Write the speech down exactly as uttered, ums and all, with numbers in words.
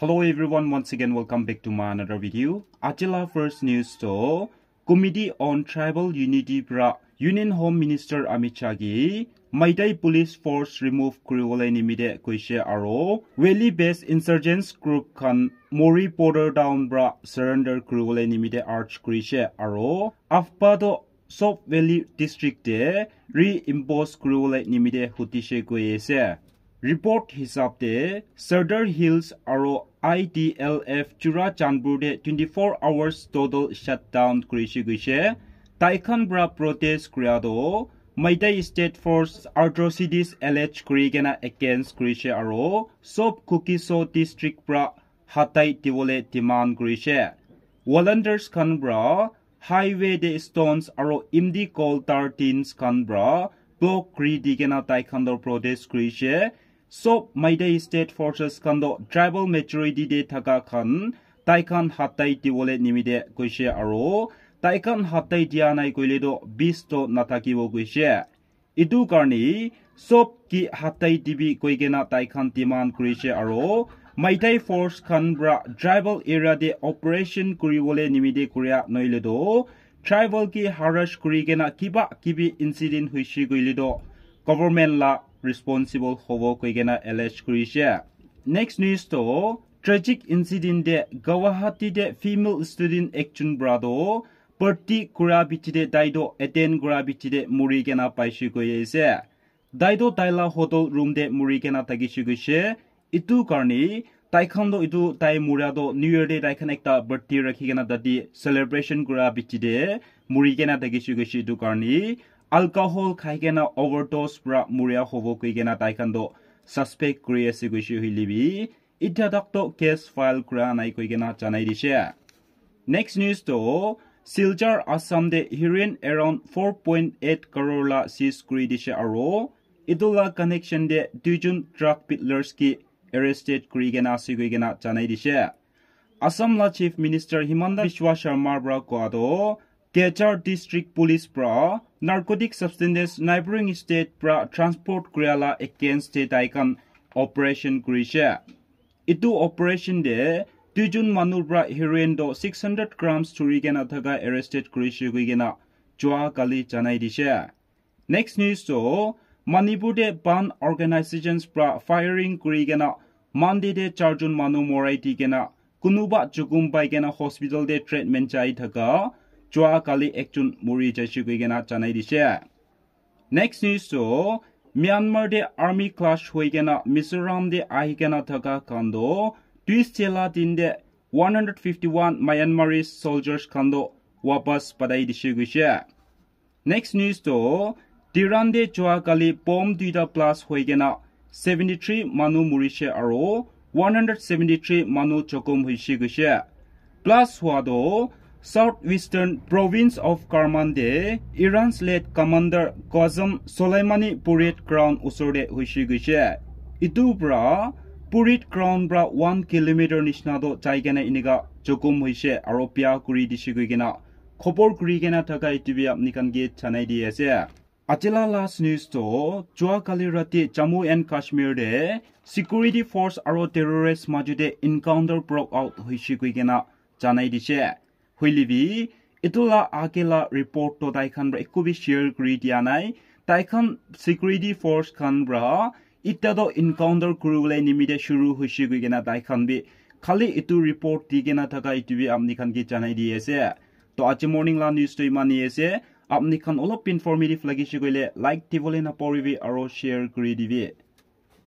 Hello everyone, once again welcome back to my another video. Ajila first news to Committee on Tribal Unity pra Union Home Minister Amit Shah gi Maitai Police Force remove kuriwole nimite koishe aro Valley based insurgents group khan Mori border town pra surrender kuriwole nimite urge kurishe aro Afpa to Sob Valley District te reimpose kuriwole nimite hutishe koi ase. Report hisab te Sadar Hills aro I T L F Churachandpur te twenty-four hours total shutdown kurishe koishe. Taikhan pra protest kuria to Maitai State Force atrocities allege kuri kena against kurishe aro sob Kuki-Zo district pra hatai diwole demand kurishe. Volunteers khan pra highway te stones aro imdi coal tar tins khan pra block kuri di kena taikhan to protest kurishe. Sob Maitai State Forces khan to tribal majority te thaka khan taikhan hatai diwole nimite koishe aro taikhan hatai dia nai koile to peace to nathakibo koishe. Etu karne sob ki hatai dibi koi kena taikhan demand kurishe aro Maitai Force khan pra tribal area te operation kuriwole nimite kuria noile to tribal ki harass kuri kena kiba kibi incident hoishe koile to government la responsible hobo koi kena allege kurishe. Next news to tragic incident te Guwahati te female student ekjon pra to party kura bichi te tai to attend kura bichi te muri kena paishe koi ase. Tai to tai la hotel room te muri kena thakishe koishe. Etu karne taikhan to etu tai muria to New Year te taikhan ekta party rakhi kena tate celebration kura bichi te muri kena thakishe koishe. Etu karne alcohol khai kena overdose pra muria hobo koi kena taikhan to suspect kuri ase koishe hoile bi Itya tak to case file kura nai koi kena janai dishe. Next news to Silchar Assam te heroin around four point eight crore la seize kuri dishe aro etu la connection te duijon drug peddlers ki arrested kuri kena ase koi kena janai dishe. Assam la Chief Minister Himanta Biswa Sharma pra koa to Cachar District Police pra narcotic substances neighboring state pra transport kuria la against te tai khan operation kurishe. Etu operation te duijon manu pra heroin to six hundred grams thuri kena thaka arrested kurishe koi kena jua kali janai dishe. Next news to Manipur te bandh organizations pra firing kuri kena Monday te charjon manu morai di kena kunuba jukum pai kena hospital te treatment jai thaka jua kali ekjon muri jaishe koi kena janai dishe. Next news to Myanmar te army clash hoi kena Mizoram te ahi kena thaka khan to Tuesday la din te one hundred fifty-one Myanmarese soldiers khan to wapas patai dishe koishe. Next news to Tehran te jua kali bomb duita blast hoi kena seventy-three manu murishe aro one hundred seventy-three manu jokhom hoishe koishe. Blast hua to South Western Province of Kerman te Iran's late commander Qasem Soleimani parade ground usor te hoishe koishe. Etu pra parade ground pra one kilometer nishina to jai kena enika jokhom hoishe aro bia kuri dishe koi kena khobor kuri kena thaka etu bi apni khan ke janai di ase. Ajila last news to jua kali rati Jammu and Kashmir te security force aro terrorist majo te encounter broke out hoishe koi kena janai dishe. Hoile bi etu la age la report to tai khan pra ekku bi share kuri dia nai. Tai khan security force khan pra eta to encounter kuri bole nimite shuru hoishe koi kena tai khan bi khali etu report di kena thaka etu bi apni khan ke janai di ase. To aji morning la news to iman hi ase. Apni khan olop informative lagishe koile like dibole naporibi aro share kuri dibi.